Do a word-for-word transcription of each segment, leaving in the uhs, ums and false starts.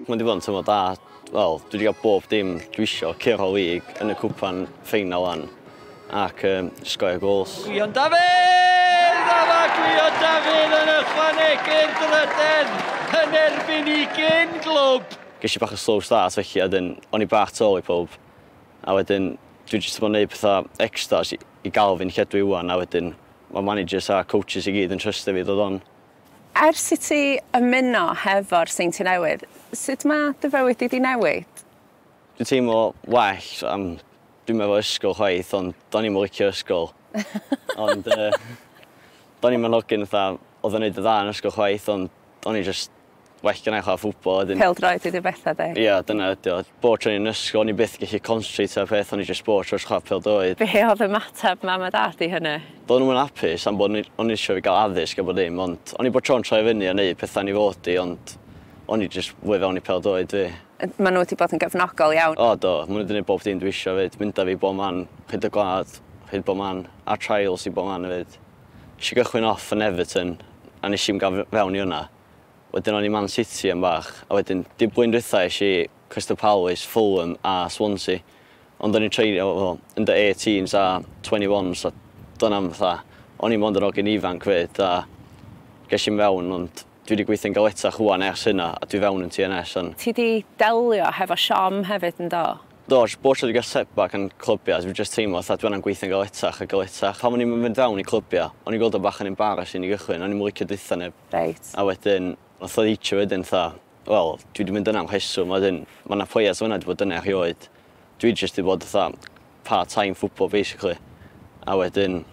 Mae wedi bod yn tymor da. Wel, dwi wedi cael bob dim dwi isio, curo league yn y cwpan ffeinal an ac um, sgorio goals. Gwion Dafydd! A mae Gwion Dafydd yn ychwanegu'r drydedd yn erbyn i gyn glwb. Ges i bach o slow start felly, a wedyn o'n i bach tu ôl i pob. A wedyn dwi jyst yn gwneud pethau extras i, i gael fi'n lle dwi wan, a wedyn mae managers a coaches i gyd yn trystio fi ddod on. Ers i ti ymuno hefo'r Seintiau Newydd, sut mae dy fywyd di di newid? Dwi'n teimlo well, am, dwi'n meddwl ysgol chwaith, ond do'n i'm yn licio ysgol. Ond uh, do'n i'm yn hogyn fatha, oedd yn neud y dda yn ysgol chwaith, ond o'n i just well gennai chwarae ffwbol. Wedyn Pêl-droed ydy'r bethau de. Ia, dyna ydi o. Bob tro o'n i'n ysgol, o'n i byth gallu concentrate ar peth, o'n i just bob tro chwarae pêl-droed. Be oedd ymateb mam a dad i hynny? Doedd nhw'n hapus am bod o'n i eisiau fi gael addysg a bod dim, ond o'n i bod tro'n troi fyny a neud pethau ni fod i, ond o'n i just fwy fewn i pêl-droed fi. Maen nhw wedi bod yn gefnogol iawn. O, do, maen nhw wedi gwneud bob dim dwi eisiau fyd. Mynd â fi bob man, hyd y gwlad, hyd bob man, a trials i bob man hefyd. Nes i gychwyn off yn Everton, a nes i'm gael fewn i hwnna. Wedyn o'n i Man City am bach, a wedyn dim blwyddyn dwytha es i Crystal Palace, Fulham a Swansea. Ond o'n i'n treinio well, under eighteens a twenty-ones, a dyna am fatha, o'n i'n mond yn hogyn ifanc fyd, a ges i'm fewn, ond dwi wedi gweithio'n galetach ŵan ers hynna, a dwi fewn yn T N S. Ond Ti di delio hefo siom hefyd, yn do? Do, bob tro dwi gael setback yn clybiau, dwi'n just teimlo fatha dwi angen gweithio'n galetach a galetach. Pan o'n i'n mynd fewn i clybiau, o'n i'n gweld o bach yn embarrassing i gychwyn, o'n i'n licio deutha neb. Reit. A wedyn, nath o ddeitio wedyn, fatha, wel, dwi wedi mynd yna am rheswm, a wedyn, mae yna players fyna wedi bod yna erioed. Dwi just wedi bod fatha part-time football, basically. A wedyn,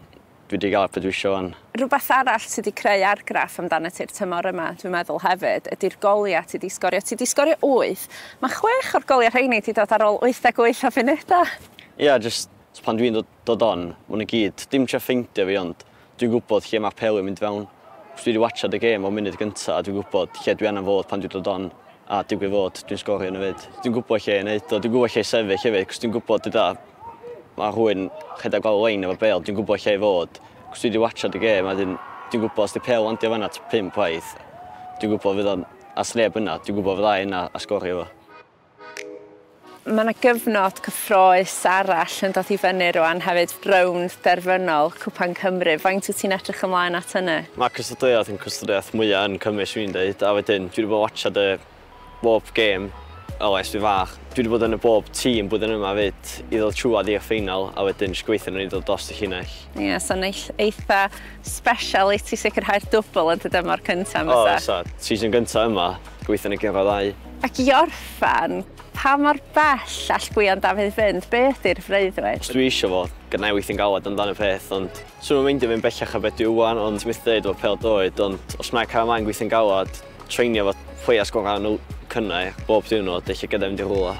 dwi wedi gael beth dwi eisiau wan. Rhywbeth arall sydd wedi creu argraff amdano ti'r tymor yma, dwi'n meddwl hefyd, ydy'r goliau ti wedi sgorio. Ti wedi sgorio wyth. Mae chwech o'r goliau rheini wedi dod ar ôl wyth deg wyth o funudau. Ia, yeah, just pan dwi'n dod, dod on, maen nhw gyd, dim trio ffeindio fi, ond dwi'n gwybod lle mae peli yn mynd fewn. Dwi wedi watchad y gêm o munud gyntaf, a dwi'n gwybod lle dwi angen fod pan dwi'n dod on, a digwydd fod, dwi'n sgorio yn y fyd. Dwi'n gwybod lle i wneud o, dwi'n gwybod lle i sefyll hefyd, cos dwi'n gwybod dyda, mae rhywun rhedeg gweld lein efo bel, dwi'n gwybod lle i fod. Cos dwi wedi watchad y gêm, a dwi'n dwi'n gwybod os di pel landio fan'na pump waith, dwi'n gwybod fydd o'n, a sneb yna, dwi'n gwybod fydda i yna a sgorio fo. Mae yna gyfnod cyffrous arall yn dod i fyny rwan hefyd, rownd derfynol Cwpan Cymru. Faint wyt ti'n edrych ymlaen at hynny? Mae cystadleuaeth yn cystadleuaeth mwyaf yn Cymru, swn i'n dweud, a wedyn dwi wedi bod watchad y bob gêm o ers fi fach. Dwi wedi bod yn y bob tîm blwyddyn yma fyd i ddod trwad i'r ffeinal, a wedyn jyst gweithio nhw'n i ddod dros y llinell. Ie, yeah, so eitha special i ti sicrhau'r dwbl yn dy dymor cyntaf. O, so, season gyntaf yma, gweithio yn y gyrra ddau. Ac i orffan, pa mor bell all Gwion Dafydd fynd? Be ydy'r freuddwyd? Os dwi eisiau fo, gyda i weithio'n galed amdano peth, ond swn i'n meindio fynd bellach a beth dwi wan, ond ti'n methu dweud efo pêl-droed, ond os mae cael ymlaen gweithio'n galed, treinio fo players gorau yn y cynnau bob diwrnod, eich gyda fynd i rhywle.